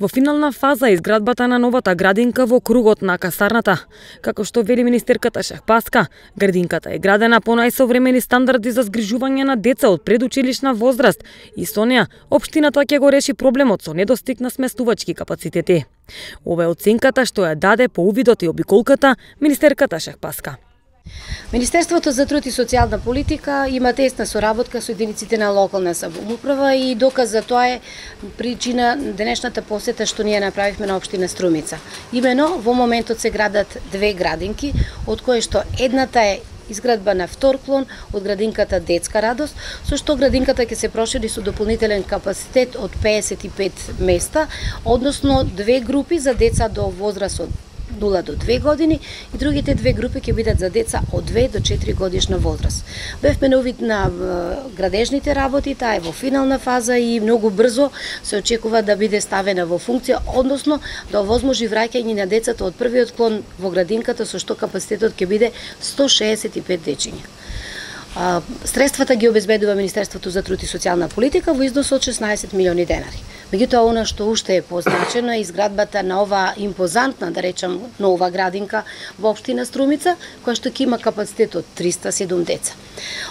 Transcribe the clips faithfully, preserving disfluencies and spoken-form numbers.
Во финална фаза е изградбата на новата градинка во кругот на касарната. Како што вели министерката Шахпаска, градинката е градена по најсовремени стандарди за згрижување на деца од предучилишна возраст и со неа општината ќе го реши проблемот со недостиг на сместувачки капацитети. Ова е оценката што ја даде по увидот и обиколката министерката Шахпаска. Министерството за труд и социјална политика има тесна соработка со единиците на локална самоуправа и доказ за тоа е причина денешната посета што ние направивме на општина Струмица. Имено во моментот се градат две градинки, од кои што едната е изградба на втор клон од градинката Детска радост, со што градинката ќе се прошири со дополнителен капацитет од педесет и пет места, односно две групи за деца до возраст од нула до две години и другите две групи ќе бидат за деца од две до четири годишна возраст. Бевме на увид на градежните работи, таа е во финална фаза и многу брзо се очекува да биде ставена во функција, односно да овозможи враќање на децата од првиот клон во градинката, со што капацитетот ќе биде сто шеесет и пет дечиња. Средствата ги обезбедува Министерството за труд и социјална политика во износ од шеснаесет милиони денари. Меѓутоа, она што уште е позначено е изградбата на ова импозантна, да речам, нова градинка во општина Струмица, која што ќе има капацитет од триста и седум деца.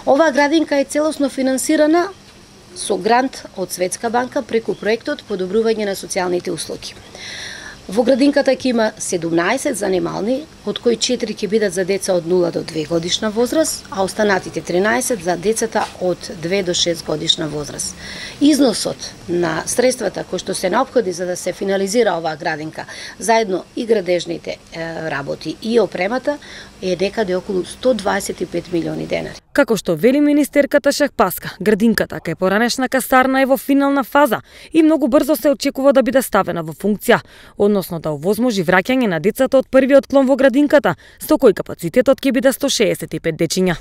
Оваа градинка е целосно финансирана со грант од Светска банка преку проектот Подобрување на социјалните услуги. Во градинката ќе има седумнаесет занимални, од кои четири ќе бидат за деца од нула до две годишна возраст, а останатите тринаесет за децата од две до шест годишна возраст. Износот на средствата кои што се неопходни за да се финализира оваа градинка, заедно и градежните е, работи и опремата, е некаде околу сто дваесет и пет милиони денари. Како што вели министерката Шахпаска, градинката кај поранешна касарна е во финална фаза и многу брзо се очекува да биде ставена во функција, односно да овозможи враќање на децата од првиот клон во градинката, со кој капацитетот ќе биде сто шеесет и пет дечиња.